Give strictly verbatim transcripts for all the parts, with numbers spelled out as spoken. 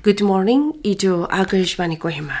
Good morning, itu Akashvani Kohima.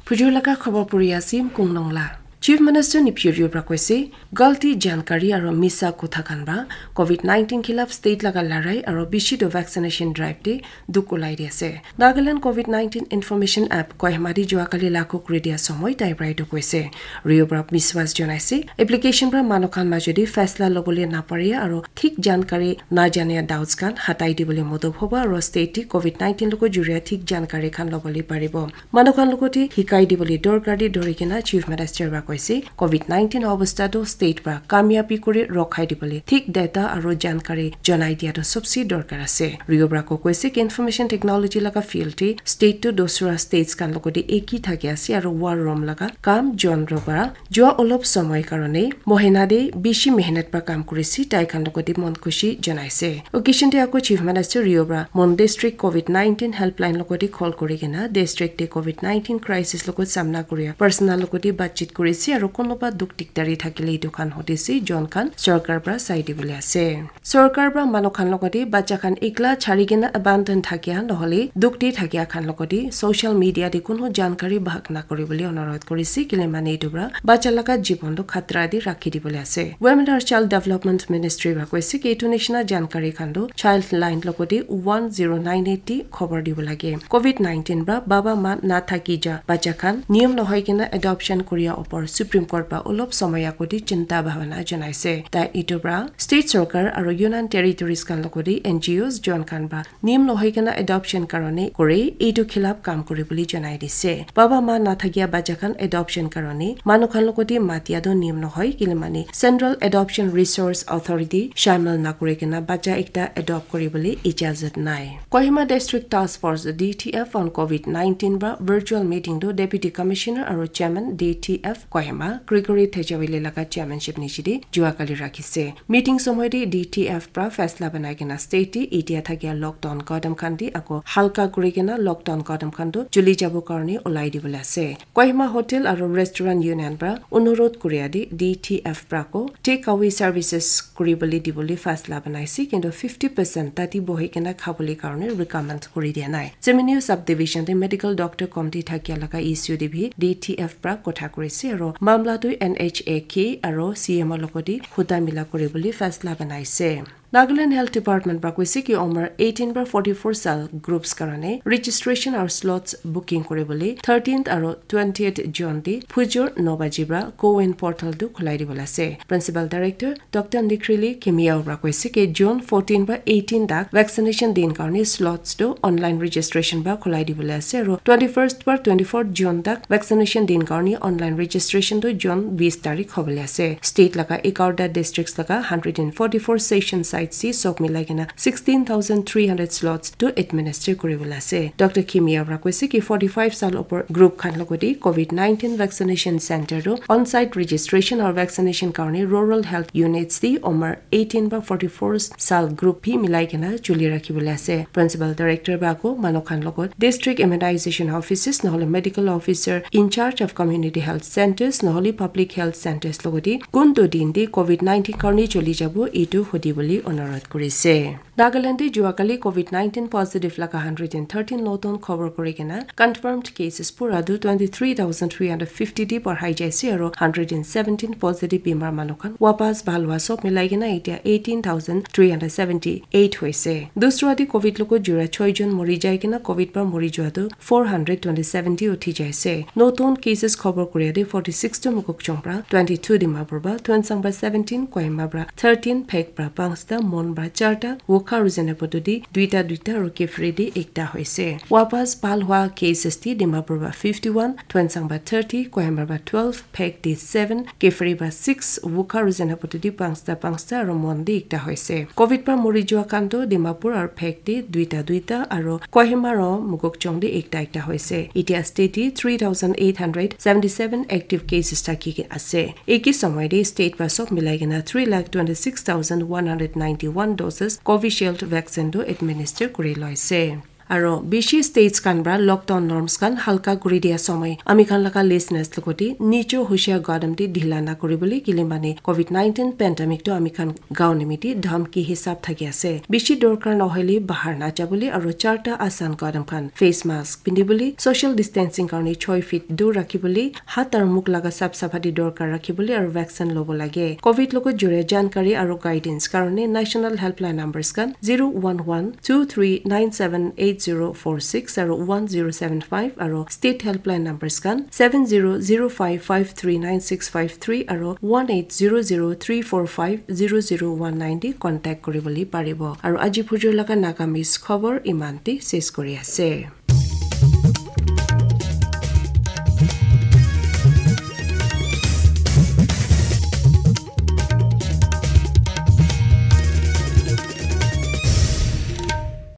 Phujur laga khobor puri asim Kunglong la. Chief Minister Neiphiu Rio pra koise, galti jankari aro misa kotha khan pra covid nineteen khilaf state laga larai aro bishi do vaccination drive te duk ulai di ase. Nagaland covid nineteen information app Kohima di juakali lakhu kuri dia somoi tai pra itu koise. Rio pra biswas jonaise, application pra manu khan majodi faisla lobole napare aro thik jankari najania doubts khan hatai dibole modop hobo aro state te covid nineteen logo juria thik jankari khan lobole paribo. Manu khan logote hikai dibole dorkar de dori kena Chief Minister pra koise, covid nineteen obostha to state pra kamiabi kuri rokhai dibole thik data aro jankari jonai dia to sobse dorkar ase. Rio pra ko koise ki information technology laga field te state to dosra states khan logote eki thaki ase aro war room laga kam jon ro pra jua olop somoi karone mohina de bishi mehnat pra kam kurisi tai khan logote mon khushi jonaise. Occasion te ako Chief Minister Rio pra Mon District covid nineteen helpline logote call kuri kena district te covid nineteen crisis logot samna kuria personal logote batchit kurisi aro konoba duk dikdari thakile itu khan hotisi jon khan sorkar pra sai dibole ase. Sorkar pra manu khan logote bacha khan ekla chari kena abandon thakia nohole duk te thakia khan logote social media te kono jankari bhag na kuri bole onurodh kurisi kile mane itu pra bacha laga jibon to khatra te rakhi dibole ase. Women and Child Development Ministry pra koise ki itu nishina jankari khan to child line logote one zero nine eight te khobor dibo lage. covid nineteen pra baba ma na thaki ja bacha khan niyom nohoi kena adoption kuria opor Supreme Court pra olop somoi agote chinta bhavana janaise. Tai itu pra state sorkar aro Union Territories khan logote N G Os jon khan pra niyom nohoi kena adoption karone kore itu khilaf kam kuri bole janai dise. Baba ma na thakia bacha khan adoption karone manu khan logote matia do niyom nohoi kile mane Central Adoption Resource Authority shamil na kuri kena bacha ekta adopt kuri bole ijazat nai. Kohima District Task Force D T F on covid nineteen pra virtual meeting to Deputy Commissioner aro Chairman D T F Kohima Gregory Thejawile laga chairmanship nishi de juakali rakhise. Meeting somoi te D T F pra faisla banai kena state te itia thakia lockdown kadam khan te ako halka kuri kena lockdown kadam khan to chuli jabo karone ulai dibole ase. Kohima Hotel aro Restaurant Union pra onurodh kuria de D T F pra ko take away services kuri bole dibole faisla banaise kintu fifty percent tati bohi kena khabole karone recommend kuri dia nai. Chiminiu subdivision te medical doctor komti thakia laga issue te bi D T F pra kotha kurise aro mamla tu N H A K aro C M O logote huda mila kuri bole faisla banaise. Nagaland Health Department pra koise ki umar eighteen pra forty-four sal groups karone registration aro slots booking kuri bole thirteenth aro twentieth June te phujur no baji pra CoWIN portal tu khulai dibole ase. Principal Director Doctor Nikhrili Kimiao pra koise ki June fourteen pra eighteen tak vaccination din karone slots tu online registration pra khulai dibole ase aro twenty-first pra twenty-fourth June tak vaccination din karone online registration tu June bis tarik hobole ase. State laga egarota districts laga hundred and forty-four session sites te sob milai kena sixteen thousand three hundred slots tu administer kuri bole ase. Doctor Kimiao pra koise ki forty-five sal opor group khan logote covid nineteen vaccination center tu on-site registration aru vaccination karone rural health units te umar eighteen pra forty-four sal group bi milai kena chuli rakhi bole ase. Principal Director pra ako manu khan logot district immunization officers nohole medical officer in charge of community health centers nohole public health centers logote kuntu din te covid nineteen karone chuli jabo itu hudi bole onurodh kurise. Nagaland te juakali covid nineteen positive laga hundred and thirteen notun khobor kuri kena confirmed cases pura tu twenty-three thousand three hundred fifty te barhai jaise aru hundred and seventeen positive bimar manu khan wapas bhal hua sob milai kena etia eighteen thousand three hundred seventy-eight hoise. Dusra te covid logot jura choi jon mori jai kena covid pra mori jua tu four hundred twenty-seven te uthi jaise. Notun cases khobor kuria te forty-six tu Mokokchung pra, twenty-two Dimapur pra, Tuensang pra seventeen, Kohima pra thirteen, Phek pra panchta, Mon pra charta, Wokha aru Zunheboto te duita duita aru Kiphire te ekta hoise. Wapas bhal hua cases te Dimapur pra fifty-one, Tuensang pra thirty, Kohima pra twelve, Phek te seven, Kiphire pra six, Wokha aru Zunheboto te panchta panchta aru Mon te ekta hoise. Covid pra mori jua khan tu Dimapur aru Phek te duita duita aru Kohima aru Mokokchung te ekta ekta hoise. Etia state te three thousand eight hundred seventy-seven active cases thaki ke ase. Eki somoi te state pra sob milai kena three lakh twenty-six thousand one hundred ninety-one doses Covishield vaccine tu administer kuri loise. Aro bishi states khan pra lockdown norms khan halka kuri dia somoi ami khan laga listeners logoti nijo hushiar gadam te dhila na kuri bole, kile mane covid nineteen pandemic to ami khan gaon nimiti dhamki hisab thaki ase. Bishi dorkar nohoile bahar na jabole aro charta asan gadam khan, face mask pindibole, social distancing karone choi feet dur rakhibole, hat aro mukh laga sap saphati dorkar rakhibole aro vaccine lobo lage. Covid logot jure jankari aro guidance karone national helpline numbers khan zero one one two three nine seven eight zero four six aro one zero seven five aro state helpline numbers khan seven zero zero five five three nine six five three aro one eight zero zero three four five zero zero one nine te contact kuri bole paribo. Aro aji phujur laga Nagamese khobor iman te ses kuri ase.